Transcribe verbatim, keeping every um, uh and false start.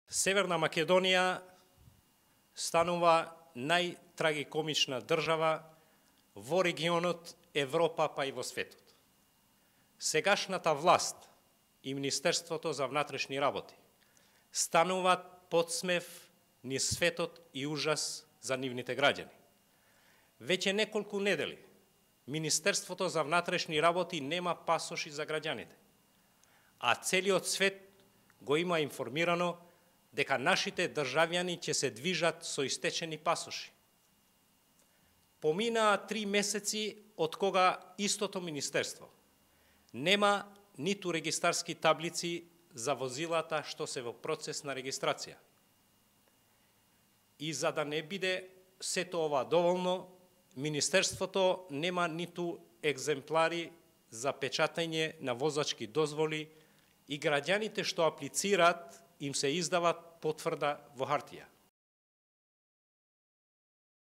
Северна Македонија станува најтрагикомична држава во регионот, Европа, па и во светот. Сегашната власт и Министерството за внатрешни работи стануваат подсмев низ светот и ужас за нивните граѓани. Веќе неколку недели Министерството за внатрешни работи нема пасоши за граѓаните, а целиот свет го има информирано дека нашите државјани ќе се движат со истечени пасоши. Поминаа три месеци од кога истото министерство нема ниту регистарски таблици за возилата што се во процес на регистрација. И за да не биде сето ова доволно, Министерството нема ниту екземплари за печатање на возачки дозволи и граѓаните што аплицираат им се издават потврда во хартија.